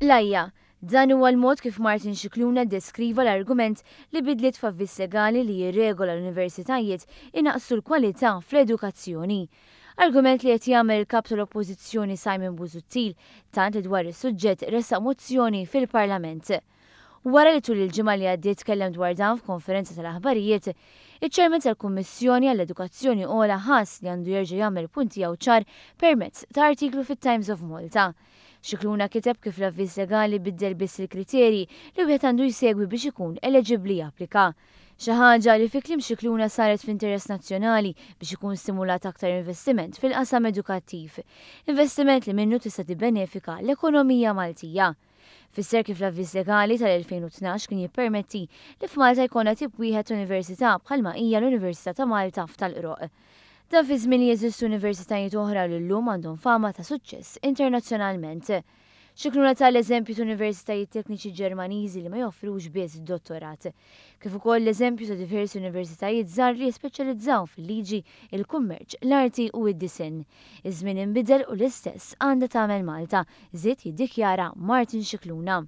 L-għajja. Dan huwa l-mod kif Martin Scicluna ddeskriva l-argument li bidliet f'avviż legali li jirregola l-universitajiet inaqqsu l-kwalità fl-edukazzjoni. Argument li qed jagħmel il-Kap tal-Oppożizzjoni Simon Busuttil tant li dwar is-suġġett ressaq mozzjoni fil-Parlament. Wara li tul il-ġimgħa li għaddiet tkellem dwar dan f'konferenza tal-aħbarijiet, iċ-Chairman tal-Kummissjoni għall-Edukazzjoni Ogħla ħass li għandu jerġa' jagħmel il-punt tiegħu ċar permezz ta' artiklu fit-Times of Malta. Scicluna kiteb kif l-avviż legali biddel biss il-kriterji li wieħed għandu jsegwi biex ikun eleġibbli japplika. Xi ħaġa li fi kliem Scicluna saret f'interess nazzjonali biex ikun stimulat aktar investiment fil-qasam edukattiv. Investiment li minnu tista' tibbenefika l-ekonomija Maltija. Fisser kif l-avviż legali tal-2012 kien jippermetti li f'Malta jkollna tip wieħed ta' università bħalma hija l-Università ta' Malta f'Tal-Qroqq. Dan fi żmien li jeżistu universitajiet oħra li llum għandhom fama ta' suċċess internazzjonalment. Scicluna ta l-eżempju ta' universitajiet tekniċi Ġermaniżi li ma joffrux biss dottorat. Kif ukoll l-eżempju ta' diversi universitajiet żgħar li jispeċjalizzaw fil-liġi, il-kummerċ, l-arti u d-disinn. Iż-żmien inbidel u l-istess għandha tagħmel Malta, żied jiddikjara Martin Scicluna.